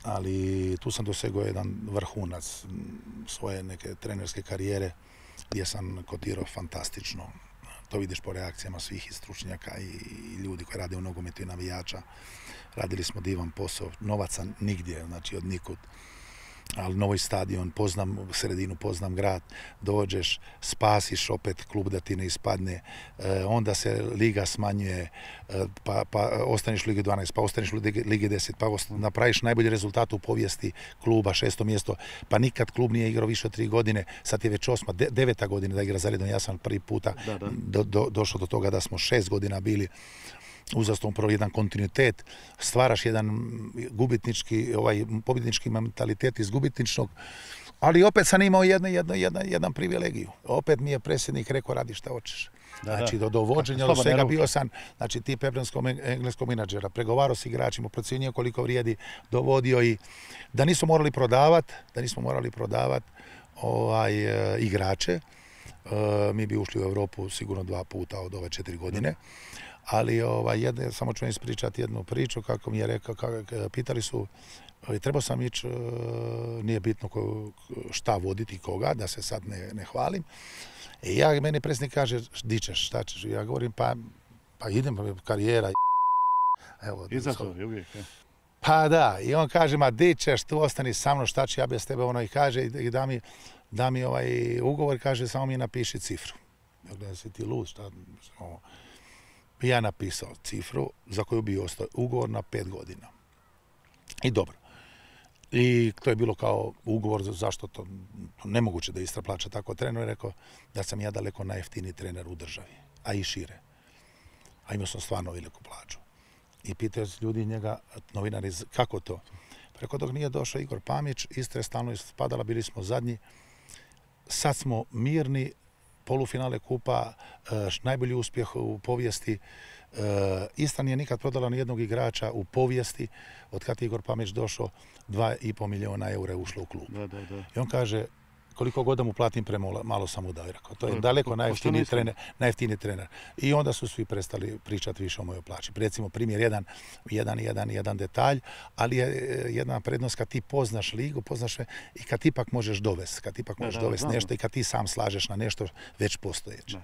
ali tu sam dosegao jedan vrhunac svoje neke trenerske karijere gdje sam kotirao fantastično. To vidiš po reakcijama svih i stručnjaka i ljudi koji rade u nogometu i navijača. Radili smo divan posao, novaca nigdje, znači od nikud. Ali novi stadion, poznam sredinu, poznam grad, dođeš, spasiš opet klub da ti ne ispadne, onda se liga smanjuje, pa ostaneš u Ligi 12, pa ostaneš u Ligi 10, pa napraviš najbolji rezultat u povijesti kluba, 6. mjesto, pa nikad klub nije igrao više od 3 godine, sad je već 8., 9. godina da igra zaredom, ja sam prvi puta došao do toga da smo 6 godina bili uzastopno prvo jedan kontinuitet, stvaraš jedan gubitnički, pobjednički mentalitet iz gubitničnog, ali opet sam imao jedan privilegiju. Opet mi je predsjednik rekao radi šta hoćeš. Znači do vođenja do svega bio sam, znači tip engleskog menadžera, pregovarao s igračima, procjenio koliko vrijedi, dovodio i da nismo morali prodavati igrače. Mi bi ušli u Europu sigurno 2 puta od ove 4 godine. Ali samo ću vam ispričati jednu priču kako mi je rekao, pitali su, trebao sam ići, nije bitno šta voditi koga, da se sad ne hvalim. I meni predsjednik kaže, di ćeš, šta ćeš? Ja govorim, pa idem, karijera. Izazovi uvijek, je. Pa da, i on kaže, ma di ćeš, tu ostani sa mnom, šta ću ja bez tebe, i kaže, i da mi ugovor, kaže, samo mi napiši cifru. Ja gledam, si ti lud, šta, ja napisao cifru za koju bi ostao ugovor na 5 godina. I dobro. I to je bilo kao ugovor zašto to nemoguće da Istra plaća tako trener. I rekao da sam ja daleko najjeftiniji trener u državi, a i šire. A imao sam stvarno veliku plaću. I pitaju ljudi njega, novinari, kako to? Preko dok nije došao Igor Pamić, Istra je stalno ispadala, bili smo zadnji. Sad smo mirni, polufinale kupa, najbolji uspjeh u povijesti. Istra nije nikad prodala ni jednog igrača u povijesti. Od kad je Igor Pamić došao, 2,5 milijuna eura je ušlo u klub. I on kaže, koliko god da mu platim malo sam mu dao. To je daleko najjeftiniji trener. I onda su svi prestali pričati više o mojoj plaći. Recimo, primjer jedan detalj, ali je jedna prednost kad ti poznaš ligu, poznaš sve i kad ti ipak možeš dovesti. Kad ti ipak možeš dovesti nešto i kad ti sam slažeš na nešto već postojeće.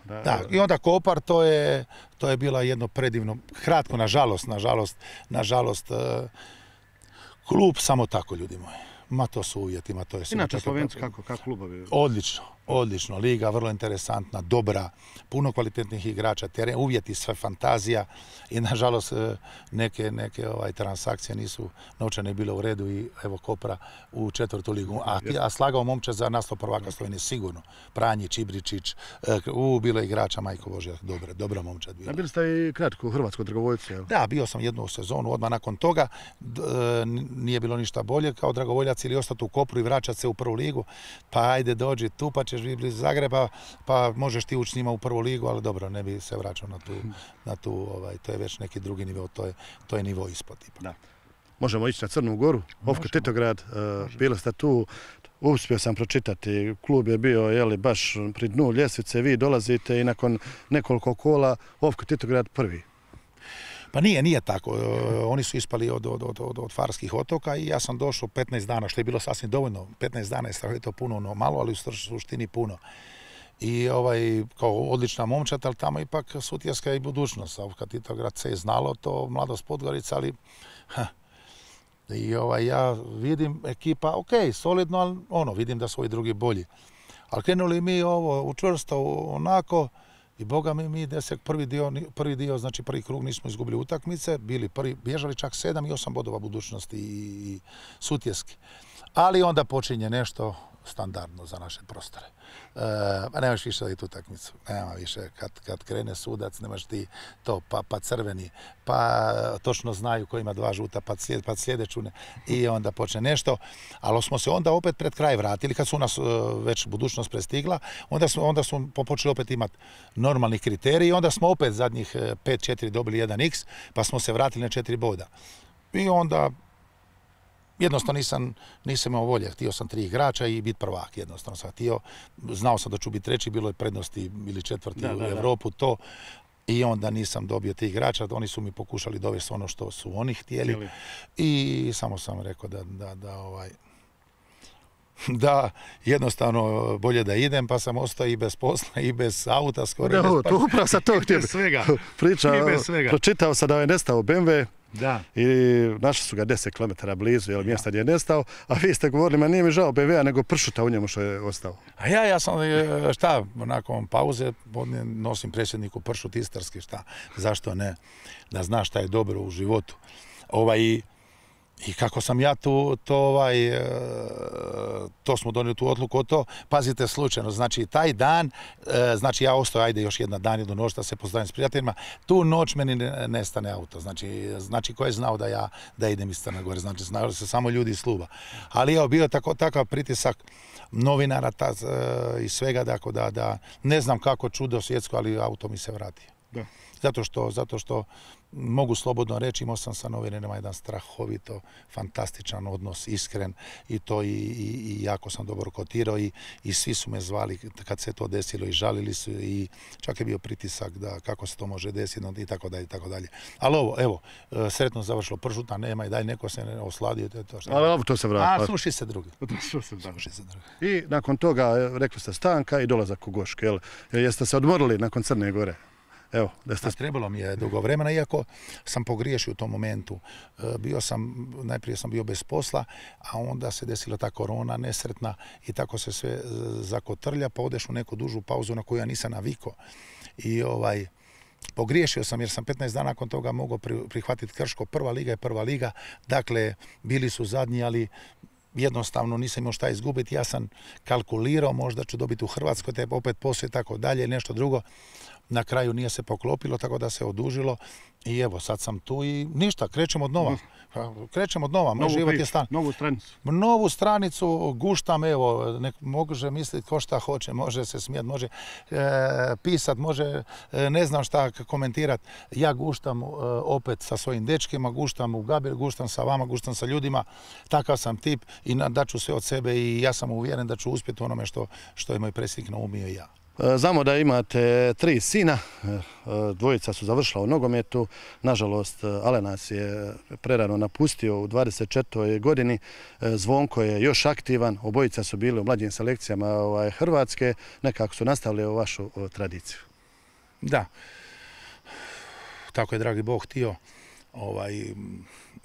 Da, i onda Kopar, to je bila jedno predivno, kratko, nažalost, klub samo tako, ljudi moji. Ma to su uvjeti, to je sve. Inače Slovenci kako klubovi? Odlično. Liga vrlo interesantna, dobra, puno kvalitetnih igrača, teren, uvjeti, sve fantazija i nažalost neke transakcije nisu novčane bile u redu i evo Kopra u 4. ligu. A slagao momče za naslov prvaka Slovenije sigurno. Pranjić, Ibričić, bilo je igrača, majko Bože, dobra momčad bila. Bili ste i kratko u Hrvatskoj dragovoljci? Da, bio sam jednu sezonu, odmah nakon toga nije bilo ništa bolje kao dragovoljac ili ostati u Kopru i vraćati se u 1. ligu, pa ajde dođi tu, pa ćeš biti blizu Zagreba, pa možeš ti ući s njima u 1. ligu, ali dobro, ne bi se vraćao na tu, to je već neki drugi nivo, to je nivo ispod. Da. Možemo ići na Crnu Goru, Ofka Titograd, bili ste tu, uspio sam pročitati, klub je bio baš pri dnu ljestvice, vi dolazite i nakon nekoliko kola Ofka Titograd prvi. Pa nije tako. Oni su ispali od Farskih otoka i ja sam došao 15 dana, što je bilo sasvim dovoljno. 15 dana je strahovito puno, malo, ali u suštini puno. I kao odlična momčad, ali tamo ipak Sutjeska i budućnost. Kad Titograd se je znalo, to mladost Podgorica, ali i ja vidim ekipa, solidno, ali vidim da su ovi drugi bolji. Ali krenuli mi učvrsto onako I boga mi desek prvi dio, znači prvi krug nismo izgubili utakmice, bili prvi, bježali čak 7 i 8 bodova budućnosti i Sutjeski. Ali onda počinje nešto standardno za naše prostore. Nemaš više da tu utakmicu. Nema više. Kad krene sudac, nemaš ti to, pa crveni, pa točno znaju ko ima 2 žuta, pa sljedeću ne. I onda počne nešto. Ali smo se onda opet pred kraj vratili, kad su nas već budućnost prestigla, onda smo počeli opet imati normalni kriteriji i onda smo opet zadnjih 5-4 dobili 1x, pa smo se vratili na 4 boda. I onda jednostavno nisam imao volje, htio sam 3 igrača i biti prvak, jednostavno sam htio, znao sam da ću biti treći, bilo je prednosti ili četvrti u Europu, to, i onda nisam dobio 3 igrača, oni su mi pokušali dovesti ono što su oni htjeli i samo sam rekao da jednostavno bolje da idem, pa sam ostao i bez posla i bez auta skoro. Da, upravo sam to htio priča, pročitao sam da je nestao BMW. Da. I našli su ga 10 km blizu mjesta gdje je nestao, a vi ste govorili, ma nije mi žao BMW-a, nego pršuta u njemu što je ostao. A ja sam, nakon pauze nosim predsjedniku pršut istarski, zašto ne, da zna šta je dobro u životu. I kako sam ja to smo donijeli tu odluku o to, pazite slučajno, znači taj dan, znači ja ostao, ajde još jedna dan, jednu noć da se pozdravim s prijateljima, tu noć meni nestane auto, znači ko je znao da idem iz Crne Gore, znači znali se samo ljudi iz kluba. Ali evo, bio je takav pritisak novinara i svega, da ne znam kako čudo svjetsko, ali auto mi se vratio. Da. Zato što mogu slobodno reći, imao sam sa novinarima jedan strahovito fantastičan odnos, iskren i jako sam dobro kotirao i svi su me zvali kad se to desilo i žalili su i čak je bio pritisak da kako se to može desiti i tako dalje, tako dalje. Ali evo, sretno završilo, pršuta nema i dalje neko se ne osladio. Ali to se vrati. A sluši se drugi. I nakon toga, rekli ste, stanka i dolazak u Goške. Jeste se odmorili nakon Crne Gore? Evo, trebalo mi je dugo vremena, iako sam pogriješio u tom momentu. Najprije sam bio bez posla, a onda se desila ta korona nesretna i tako se sve zakotrlja, pa odeš u neku dužu pauzu na koju ja nisam navikao. I pogriješio sam jer sam 15 dana nakon toga mogao prihvatiti Krško. Prva liga je prva liga, dakle bili su zadnji, ali jednostavno nisam imao šta izgubiti. Ja sam kalkulirao, možda ću dobiti u Hrvatskoj, te opet poslije tako dalje, nešto drugo. Na kraju nije se poklopilo, tako da se odužilo i evo, sad sam tu i ništa, krećemo od nova. Moj život je stan. Novu stranicu. Novu stranicu, guštam, evo, može misliti ko šta hoće, može se smijat, može pisat, može ne znam šta komentirat. Ja guštam opet sa svojim dečkima, guštam u Gabir, guštam sa vama, guštam sa ljudima. Takav sam tip i daću sve od sebe i ja sam uvjeren da ću uspjeti u onome što je moj predsjednik naumio i ja. Znamo da imate 3 sina, 2 su završila u nogometu, nažalost Alenas je prerano napustio u 24. godini, Zvonko je još aktivan, obojica su bili u mlađim selekcijama Hrvatske, nekako su nastavili ovu vašu tradiciju. Da, tako je dragi Bog htio.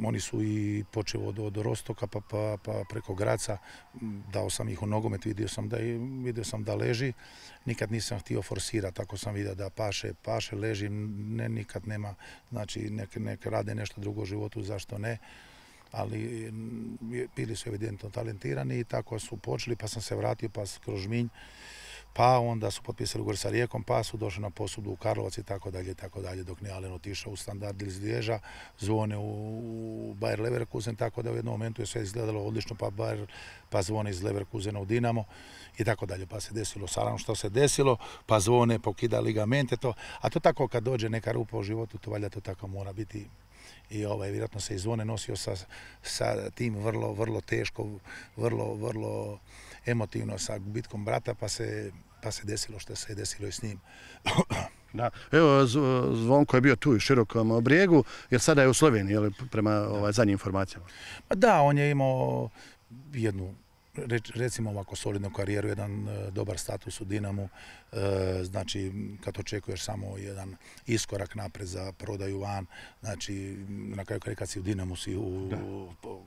Oni su i počeo od Rostoka pa preko Graca, dao sam ih u nogomet, vidio sam da leži, nikad nisam htio forsirati, tako sam vidio da paše, leži, nikad nema, znači nek rade nešto drugo u životu, zašto ne, ali bili su evidentno talentirani i tako su počeli, pa sam se vratio pa kroz Žminj, pa onda su potpisali ugovor sa Rijekom, pa su došli na posudbu u Karlovac i tako dalje, dok nije Alen otišao u Standard iz Liježa, Zvone u Bayer Leverkusen, tako da u jednom momentu je sve izgledalo odlično, pa Zvone iz Leverkusena u Dinamo i tako dalje, pa se desilo Saram što se desilo, pa Zvone pokida ligamente, a to tako kad dođe neka rupa u životu, to valjda to tako mora biti. I vjerojatno se i Zvone nosio sa tim vrlo teško, vrlo emotivno sa gubitkom brata, pa se desilo što se je desilo i s njim. Da. Evo, Zvonko je bio tu u Širokom Brijegu, jer sada je u Sloveniji, prema zadnjim informacijama. Da, on je imao jednu, recimo ovako solidnu karijeru, jedan dobar status u Dinamu, znači kad očekuješ samo jedan iskorak napred za prodaju van, znači na kraju kad si u Dinamu si u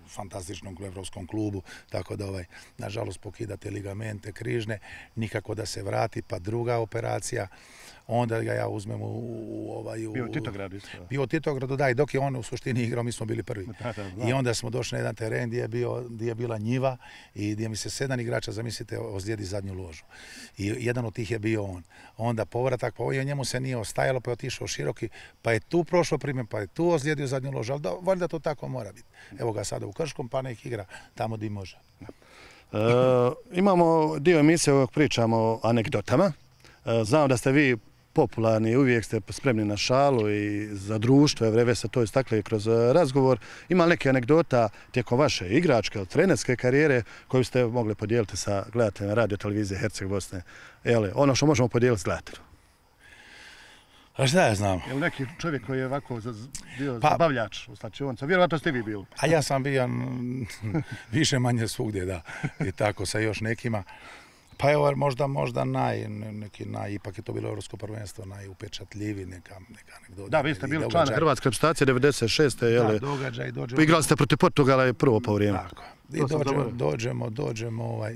fantastičnom evropskom klubu, tako da nažalost pokidate ligamente križne, nikako da se vrati, pa druga operacija, onda ga ja uzmem Bio u Titogradu isto. Bio u Titogradu, da, i dok je on u suštini igrao, mi smo bili prvi. I onda smo došli na jedan teren gdje je bila njiva i gdje mi se 7 igrača, zamislite, ozlijedi zadnju ložu. I jedan od tih je bio on. Onda povratak, pa njemu se nije ostajalo, pa je otišao široki, pa je tu prošao primjer, pa je tu ozlijedio zadnju ložu, ali valjda to tako mora biti. Evo ga sada u Krškom, pa nek igra tamo gdje može. Imamo dio emisije ovog pričamo o anegdotama. Znam da ste vi popularni, uvijek ste spremni na šalu i za društvo, vreve se to istakli kroz razgovor. Ima neke anegdota tijekom vaše igračke ili trenerske karijere koju ste mogli podijeliti sa gledateljima radio televizije Herceg Bosne? Ono što možemo podijeliti s gledateljima. A šta ja znam? Je li neki čovjek koji je ovako bio zabavljač u slačionica? Vjerovatno ste vi bili. A ja sam bio više manje svugdje, da. I tako sa još nekima. Pa evo, možda ipak je to bilo Europsko prvenstvo, najupečatljiviji neka anegdota. Da, vi ste bili član Hrvatske reprezentacije 96. Da, događaj, dođemo. Igrali ste protiv Portugala prvo po vrijeme. Tako. I dođemo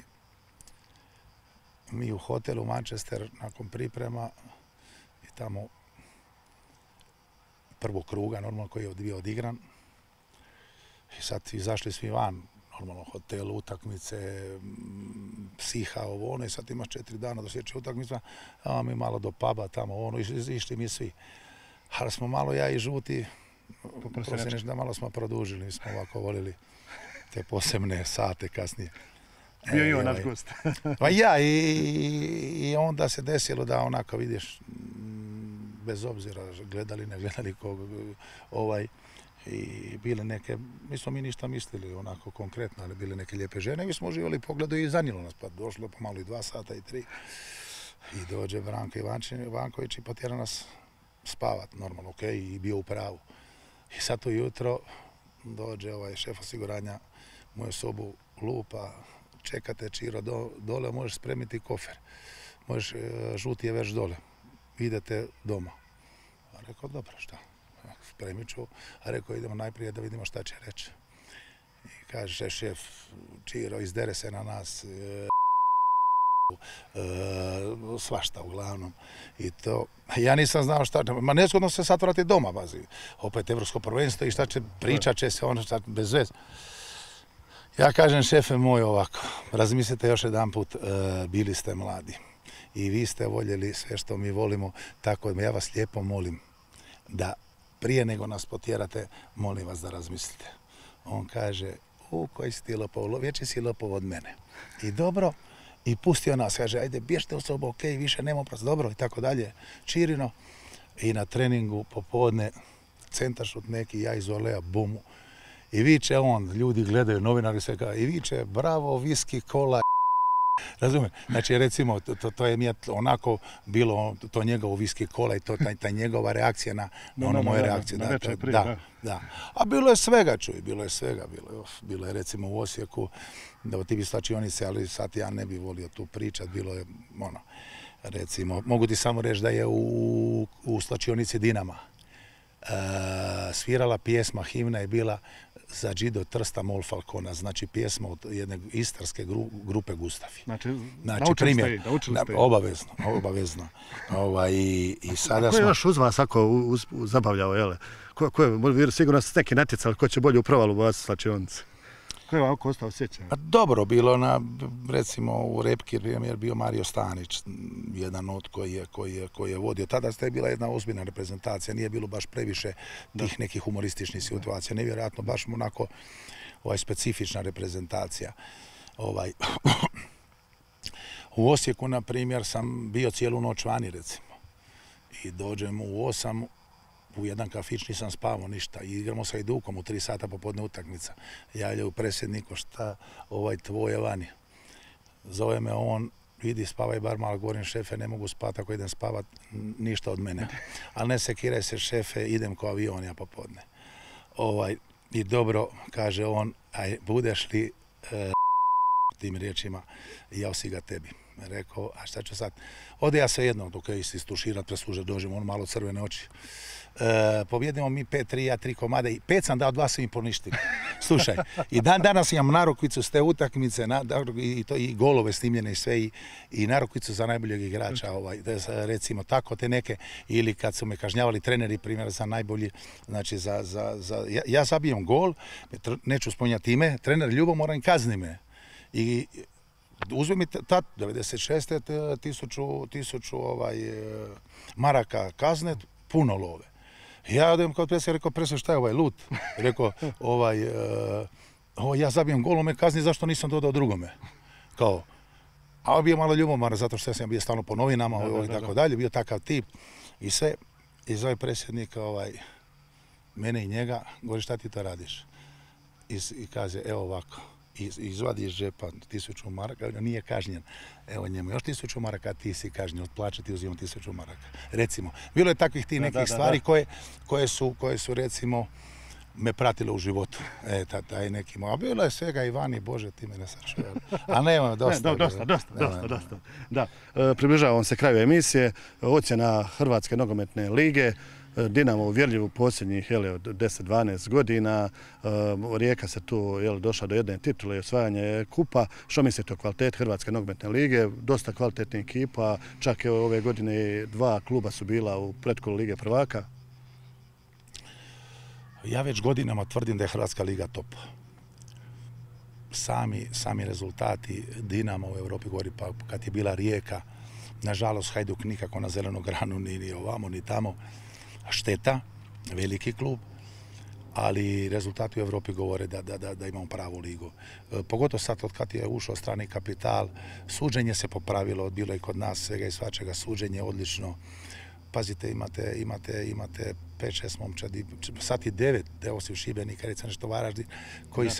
mi u hotelu Manchester nakon priprema i tamo prvog kruga, normalno, koji je bio odigran. I sad izašli svi van, normalno, hotel, utakmice, psiha, i sad imaš 4 dana do sljedeće utakmice, a mi malo do puba tamo, išli mi svi. Ali smo malo, ja i Žuti, da malo smo produžili, mi smo ovako volili te posebne sate kasnije. Bio i on naš gost. Pa ja, i onda se desilo da onako vidiš, bez obzira gledali, ne gledali i bile neke, nismo mi ništa mislili onako konkretno, ali bile neke lijepe žene i mi smo uživali pogledu i zanijelo nas, pa došlo pomalo i 2 sata i 3 i dođe Branko Ivanković i potjera nas spavat, normalno, ok, i bio u pravu. I sad ujutro dođe šef osiguranja u moju sobu, lupa, čekate Čiro dole, možeš spremiti kofer, možeš, Žuti je već dole, idete doma. A rekao, dobro, šta? Spremit ću, a rekao, idemo najprije da vidimo šta će reći. I kaže šef, Čiro, izdere se na nas, svašta uglavnom. I to, ja nisam znao šta, ma nezgodno se sad vrati doma, bazi. Opet Evropsko prvenstvo i šta će, pričat će se ono šta, bez veze. Ja kažem, šefe moj, ovako, razmislite još jedan put, bili ste mladi i vi ste voljeli sve što mi volimo, tako da ja vas lijepo molim da prije nego nas potjerate, molim vas da razmislite. On kaže, koji si ti lopov, veći si lopov od mene. I dobro, i pustio nas, kaže, ajde, bježte u sobu, ok, više nema prosto, dobro, i tako dalje, Čirino. I na treningu popodne, centaršut neki, ja iz Olea, bumu. I viče on, ljudi gledaju, novinari se kao, i viče, bravo, viski, kola, razumije? Znači, recimo, to je mi onako bilo, to njegovo viski kola i ta njegova reakcija na ono moje reakcije. Da. A bilo je svega, čuj, bilo je svega. Bilo je, recimo, u Osijeku, da ti bi slačionice, ali sad ja ne bi volio tu pričat, bilo je, recimo, mogu ti samo reći da je u slačionici Dinama svirala pjesma, himna je bila za Džido Trsta Mol Falcona, znači pjesma od jedne istarske grupe Gustavi. Znači primjer, obavezno. I sada ko je još uz vas ako zabavljao, jele? Ko je, sigurno ste neki natjecali, ko će bolje u provalu vas slačionice? Ko je ovako ostao sjećan? Dobro, bilo recimo u repki primjer bio Mario Stanić, jedan od koji je vodio. Tada ste bila jedna ozbiljna reprezentacija, nije bilo baš previše tih nekih humorističnih situacija, nevjerojatno, baš onako specifična reprezentacija. U Osijeku, na primjer, sam bio cijelu noć vani, recimo. I dođem u 8, u jedan kafić, nisam spavao ništa. I igramo sa Hajdukom u 3 sata popodne utakmica. Javljaju predsjedniku, šta tvoje vani. Zove me on, vidi, spavaj bar malo, govorim, šefe, ne mogu spati ako idem spavat, ništa od mene. Ali ne sekiraj se, šefe, idem ko avion ja popodne. I dobro, kaže on, budeš li tim riječima, jao si ga tebi. Rekao, a šta ću sad? Ode ja se jednom dok je istuširat, preslužat, dođemo, on malo crvene oči. Pobjedimo mi 5-3, ja 3 komade i 5 sam dao, 2 sam im poništili. Slušaj, i danas imam narukvicu s te utakmice i golove snimljene i sve i narukvicu za najboljeg igrača, recimo tako te neke, ili kad su me kažnjavali treneri, primjer za najbolji, znači ja zabijem gol, neću spominjati ime, trener ljubomoran kazni me. I uzme mi tad, 96. tisuću maraka kazne, puno love. Ja odem kod predsjednika, rekao, predsjednik, šta je ovaj lut? Rekao, ja zabijem gol, on me kazni, zašto nisam dodao drugome? Kao, a bio malo ljubomoran, zato što sam bio stalno po novinama i tako dalje, bio takav tip. I sve, i zove predsjednik, mene i njega, govori, šta ti to radiš? I kaže, evo ovako. Izvadi iz džepa 1000 maraka, nije kažnjen. Evo njemu još 1000 maraka, ti si kažnjen, od plaće ti uzimam 1000 maraka. Recimo, bilo je takvih ti nekih stvari koje su recimo me pratile u životu. Taj neki, a bilo je svega i vani, Bože, ti me ne sačuvaj. A nema, dosta. Dosta. Da, približavam se kraju emisije, ocjena Hrvatske nogometne lige. Dinamo uvjerljiv u posljednjih od 10-12 godina. Rijeka se tu došla do jedne titule i osvajanje kupa. Što mislite o kvaliteti Hrvatske nogometne lige? Dosta kvalitetnih ekipa, čak ove godine 2 kluba su bila u pretkolu Lige prvaka. Ja već godinama tvrdim da je Hrvatska liga top. Sami rezultati Dinama u Europi govori, pa kad je bila Rijeka, nažalost Hajduk nikako na zelenu granu, ni ovamo, ni tamo. Šteta, veliki klub, ali rezultati u Europi govore da imamo pravu ligu. Pogotovo sad od kad je ušao strani kapital, suđenje se popravilo, bilo je kod nas svega i svačega, suđenje odlično. Pazite, imate 5-6 momčadi, sad i 9, osim Šibenika, recimo nešto Varaždin,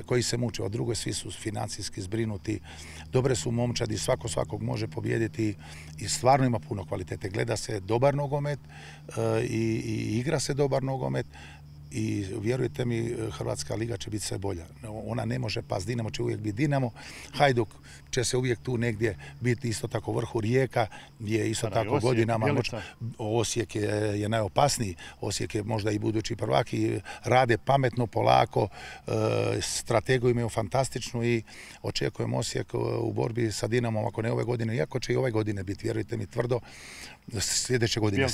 koji se muče. Od druge svi su financijski zbrinuti, dobre su momčadi, svakog može pobijediti i stvarno ima puno kvalitete. Gleda se dobar nogomet i igra se dobar nogomet. I vjerujte mi, Hrvatska liga će biti sve bolja. Ona ne može pas, Dinamo će uvijek biti Dinamo, Hajduk će se uvijek tu negdje biti isto tako vrhu, Rijeka je isto tako godinama. Osijek je najopasniji, Osijek je možda i budući prvak i rade pametno, polako, strategiju imaju fantastičnu i očekujem Osijek u borbi sa Dinamom, ako ne ove godine, iako će i ove godine biti, vjerujte mi, tvrdo, sljedeće godine.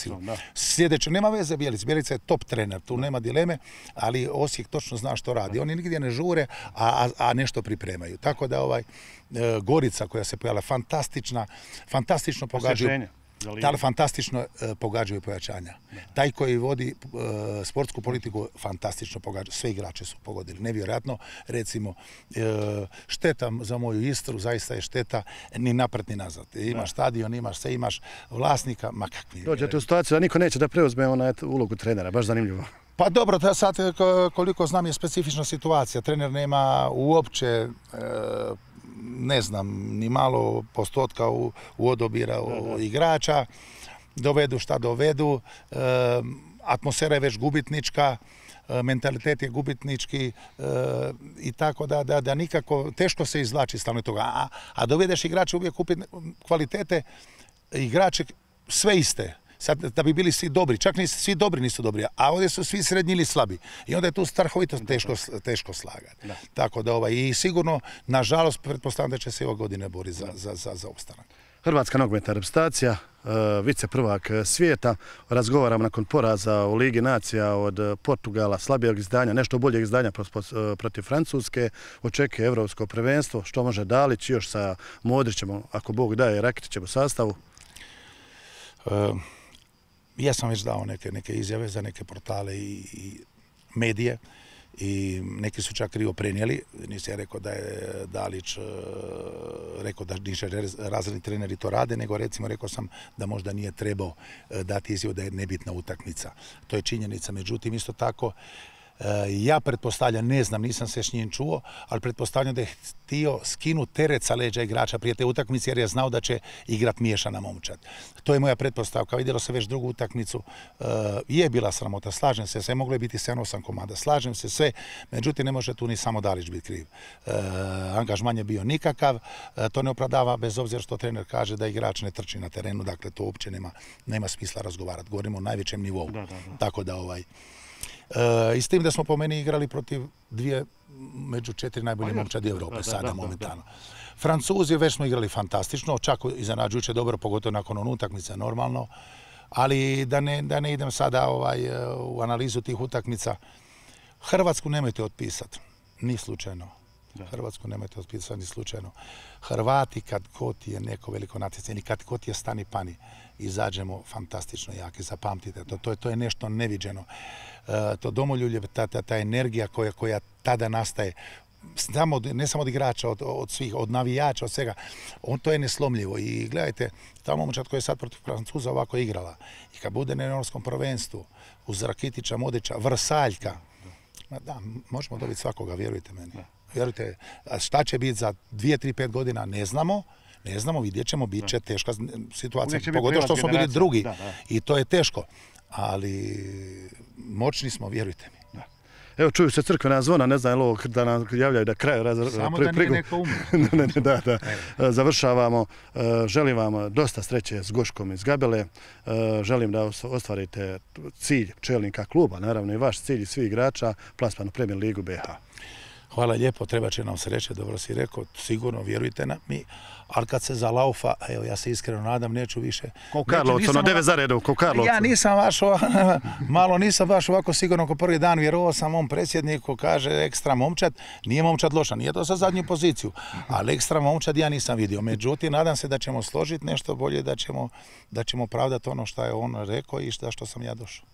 Sljedeće, nema veze Bjelica je top trener, tu nema dileme, ali Osijek točno zna što radi. Oni nigdje ne žure, a nešto pripremaju. Tako da Gorica koja se pojavila, fantastično pogađaju. Fantastično pogađaju pojačanja. Taj koji vodi sportsku politiku fantastično pogađa. Sve igrače su pogodili. Nevjerojatno, recimo, šteta za moju Istru, zaista je šteta ni napred ni nazad. Imaš stadion, imaš sve, imaš vlasnika, ma kakvi. Dođete u situaciju da niko neće da preuzme ulogu trenera, baš zanimljivo. Pa dobro, sad koliko znam je specifična situacija. Trener nema uopće ne znam, ni malo postotka u odabira igrača, dovedu šta dovedu, atmosfera je već gubitnička, mentalitet je gubitnički i tako da nikako, teško se izvlači stalno toga. A dovedeš igrače uvijek kupiti kvalitete, igrače sve iste. Sad, da bi bili svi dobri, čak ni svi dobri nisu dobri, a ovdje su svi srednji ili slabi. I onda je tu strahovito teško slagati. Tako da i sigurno, nažalost, pretpostavljam da će se i ove godine boriti za opstanak. Hrvatska nogometna reprezentacija, vice prvak svijeta, razgovaramo nakon poraza u Ligi nacija od Portugala, slabijeg izdanja, nešto boljeg izdanja protiv Francuske, očekuje evropsko prvenstvo, što može Dalić još sa Modrićem, ako Bog daje, Rakitićem u sastavu? Ja sam već dao neke izjave za neke portale i medije i neki su čak krivo prenijeli. Nisam ja rekao da je Dalić rekao da niže razredni treneri to rade, nego recimo rekao sam da možda nije trebao dati izjavu da je nebitna utakmica. To je činjenica. Međutim, isto tako Ja pretpostavljam, ne znam, nisam se s njim čuo, ali pretpostavljam da je htio skinuti teret sa leđa igrača prije te utakmice jer je znao da će igrat miješana momčad. To je moja pretpostavka. Vidjelo se već drugu utakmicu. Je bila sramota, slažem se, sve moglo je biti 7-8 komada, slažem se sve, međutim ne može tu ni samo Dalić biti kriv. Angažman je bio nikakav, to ne opravdava bez obzira što trener kaže da igrač ne trči na terenu, dakle to uopće nema smisla razgovarati. Govorimo o najvećem nivou. Tako da i s tim da smo po meni igrali protiv dvije među 4 najbolje momčadi Evrope sada momentalno. Francuzi već smo igrali fantastično, čak iznenađujuće dobro, pogotovo nakon utakmice normalno, ali da ne idem sada u analizu tih utakmica. Hrvatsku nemojte otpisati, ni slučajno. Hrvatsku nemojte otpisati, ni slučajno. Hrvati kad god je neko veliko natjecanje, kad god je stani pani, izađemo fantastično jaki, zapamtite. To je nešto neviđeno. To domoljubje, ta energija koja tada nastaje, ne samo od igrača, od svih, od navijača, od svega, to je neslomljivo. I gledajte, ta momčad koja je sad protiv Francuza ovako igrala, i kad bude na europskom prvenstvu, uz Rakitića, Modića, Vrsaljka, da, možemo dobiti svakoga, vjerujte meni. Vjerujte, šta će biti za 2, 3, 5 godina, ne znamo, vidjet ćemo, bit će teška situacija, pogotovo što smo bili drugi i to je teško, ali moćni smo, vjerujte mi. Evo, čuju se crkvena zvona, ne znam je li ovo da nam javljaju da kraju. Samo da nije neko umro. Da. Završavamo. Želim vam dosta sreće s Goškom iz Gabele. Želim da ostvarite cilj čelnika kluba, naravno i vaš cilj i svih igrača, plasman u Premier ligu BiH. Hvala lijepo, treba će nam sreće, dobro si rekao, sigurno, vjerujte nam mi, ali kad se zalaufa, evo ja se iskreno nadam, neću više. Ko Karlovcu, ono 9 za redom, ko Karlovcu. Ja nisam nisam baš ovako sigurno ko prvi dan, vjerovao sam ovom predsjedniku, kaže ekstra momčad, nije momčad loša, nije to za zadnju poziciju, ali ekstra momčad ja nisam vidio. Međutim, nadam se da ćemo složiti nešto bolje, da ćemo pravdati ono što je on rekao i što sam ja došao.